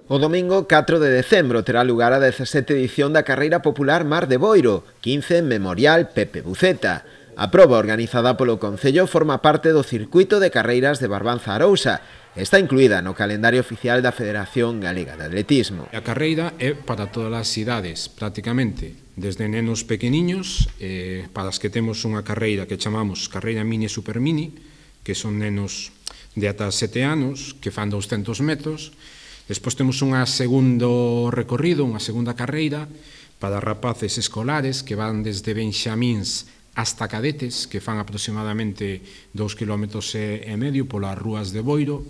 O domingo 4 de decembro terá lugar a 17ª edición da Carreira Popular Mar de Boiro, 15 Memorial Pepe Buceta. A proba organizada polo Concello forma parte do circuito de carreiras de Barbanza-Arousa. Está incluída no calendario oficial da Federación Galega de Atletismo. A carreira é para todas as idades, prácticamente, desde nenos pequeniños, para as que temos unha carreira que chamamos Carreira Mini e Super Mini, que son nenos de ata 7 anos, que fan 200 metros. Despois temos un segundo recorrido, unha segunda carreira, para rapaces escolares que van desde benxamíns hasta cadetes, que fan aproximadamente 2,5 km polas rúas de Boiro,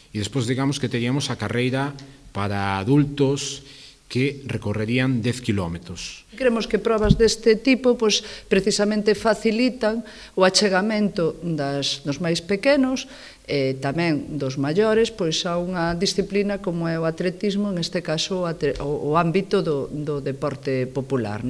e despois digamos que teríamos a carreira para adultos que recorrerían 10 km. Creemos que probas deste tipo precisamente facilitan o achegamento dos máis pequenos e tamén dos maiores a unha disciplina como é o atletismo, en este caso o ámbito do deporte popular.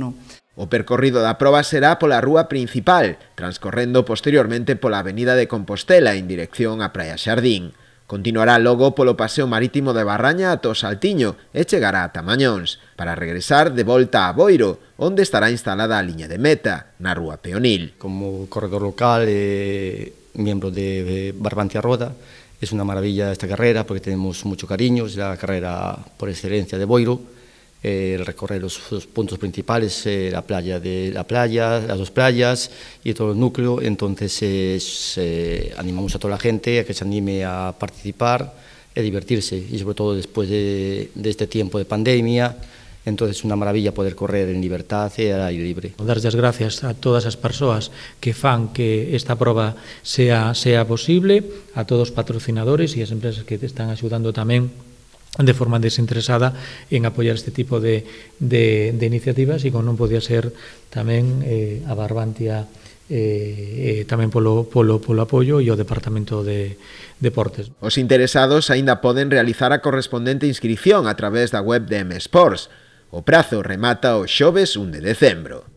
O percorrido da proba será pola rúa principal, transcorrendo posteriormente pola avenida de Compostela en dirección á Praia Xardín. Continuará logo polo paseo marítimo de Barraña ata o Saltiño e chegará a Tamañóns, para regresar de volta a Boiro, onde estará instalada a liña de meta, na rúa Peonil. Como corredor local e miembro de Barbanza Roda, es una maravilla esta carrera porque tenemos mucho cariño, es la carrera por excelencia de Boiro. Recorrer los puntos principales, la playa, las dos playas y todo el núcleo. Entonces animamos a toda la gente a que se anime a participar y a divertirse, y sobre todo después de este tiempo de pandemia. Entonces es una maravilla poder correr en libertad e al aire libre. Dar as gracias a todas as persoas que fan que esta proba sea posible, a todos os patrocinadores e as empresas que te están axudando tamén de forma desinteresada en apoiar este tipo de iniciativas, e como non podía ser tamén a Barbantia tamén polo apoio e o Departamento de Deportes. Os interesados aínda poden realizar a correspondente inscrición a través da web de M Sports. O prazo remata o xoves 1 de decembro.